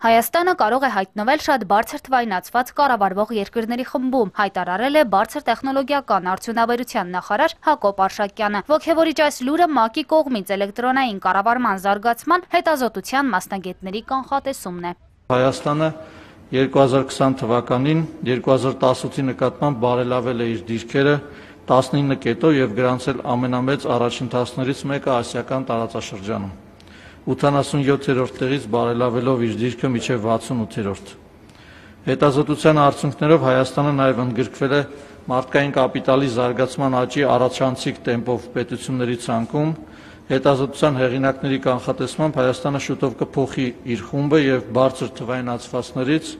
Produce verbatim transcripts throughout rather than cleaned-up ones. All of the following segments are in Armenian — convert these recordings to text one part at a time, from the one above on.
Հայաստանը կարող է հայտնվել շատ բարձր թվայնացված կառավարվող երկրների խմբում, հայտարարել է բարձր տեխնոլոգիական արդյունաբերության նախարար Հակոբ Արշակյանը։ Ոգևորիչ այս լուրը ՄԱԿ-ի կողմից էլեկտրոնային կառավարման զարգացման հետազոտության մասնագետների կանխատեսումն է։ Հայաստանը երկու հազար քսան թվականին երկու հազար տասնութի նկատմամբ բարելավել է իր դիրքերը տասնինը կետով եւ գրանցել ամենամեծ առաջընթացներից մեկը ասիական տարածաշրջանում։ ութանասունյոթերորդ տեղից բարելավելով իր դիրքը մինչև վաթսունութերորդ։ Հետազոտության արդյունքներով Հայաստանը նաև ընդգրկվել է մարդկային կապիտալի զարգացման աճի առաջանցիկ տեմպով պետությունների ցանկում։ Հետազոտության հեղինակների կանխատեսմամբ Հայաստանը շուտով կփոխի իր խումբը եւ բարձր թվայնացվածներից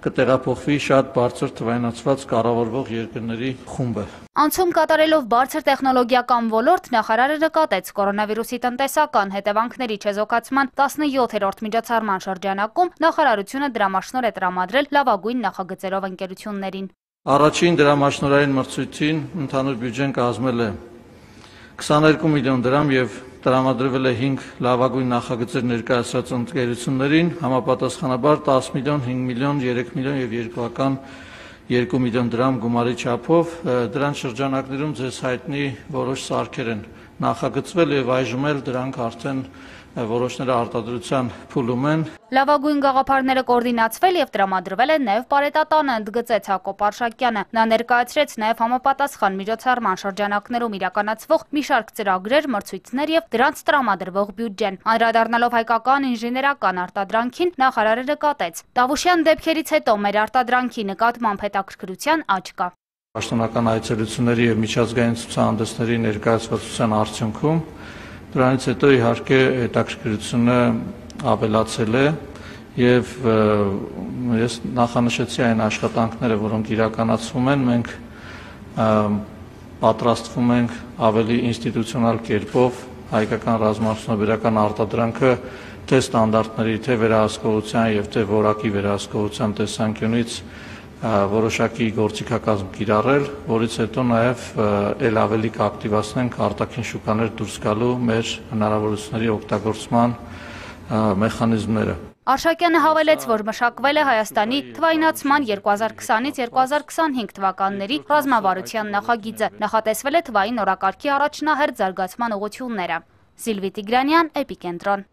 կտեղափոխվի շատ բարձր թվայնացված կառավարվող երկրների խումբը։ Անցում կատարելով բարձր տեխնոլոգիական ոլորտ նախարարը նկատեց կորոնավիրուսի տնտեսական հետևանքների չեզոքացման տասնյոթերորդ միջոցառման շրջանակում նախարարությունը դրամաշնոր է տրամադրել լավագույն նախագծերով ընկերություններին։ Առաջին դրամաշնորհային մրցույթին ընդհանուր բյուջեն կազմել է քսաներկու միլիոն դրամ եւ տրամադրվել է հինգ լավագույն նախագծեր ներկայացրած ընկերություններին, համապատասխանաբար տասը միլիոն, հինգ միլիոն, երեք միլիոն եւ երկական երկու միլիոն դրամ գումարի չափով։ Դրանց շրջանակներում ձեզ հայտնի որոշ սարքեր են նախագծվել եւ այժմ էլ դրանք արդեն որոշները արտադրության փուլում են։ Լավագույն գաղափարները կոորդինացվել եւ տրամադրվել են նաեւ Պարետատանը, ընդգծեց Հակոբ Արշակյանը։ Նա ներկայացրեց նաեւ համապատասխան միջոցառման շրջանակներում իրականացվող մի շարք ծրագրեր, մրցույթներ եւ դրանց տրամադրվող բյուջեն։ Անդրադառնալով հայկական ինժեներական արտադրանքին, նախարարը նկատեց. Տավուշյան դեպքերից հետո մեր արտադրանքի նկատմամբ հետաքրքրության աճ կա։ Պաշտոնական այցելությունների եւ միջազգային ցուցահանդեսների ներկայացվածության արդյունքում դրանից հետո իհարկե հետաքրքրությունը ավելացել է եւ ես նախանշեցի այն աշխատանքները, որոնք իրականացվում են, մենք պատրաստվում ենք ավելի ինստիտուցիոնալ կերպով հայկական ռազմաարդյունաբերական արտադրանքը թե ստանդարտների, թե վերահսկողության եւ թե որակի վերահսկողության տեսանկյունից որոշակի գործիքակազմ կիրառել, որից հետո նաև ել ավելի կակտիվացնենք արտաքին շուկաներ դուրս գալու մեր հնարավորությունների օգտագործման մեխանիզմները։ Արշակյանը հավելեց, որ մշակվել է Հայաստանի թվայնացման երկու հազար քսանից երկու հազար քսանհինգ թվականների ռազմավարության նախագիծը, նախատեսվել է թվային օրակարգի առաջնահերթ զարգացման ուղղությունները։ Սիլվի Տիգրանյան, Էպիկենտրոն։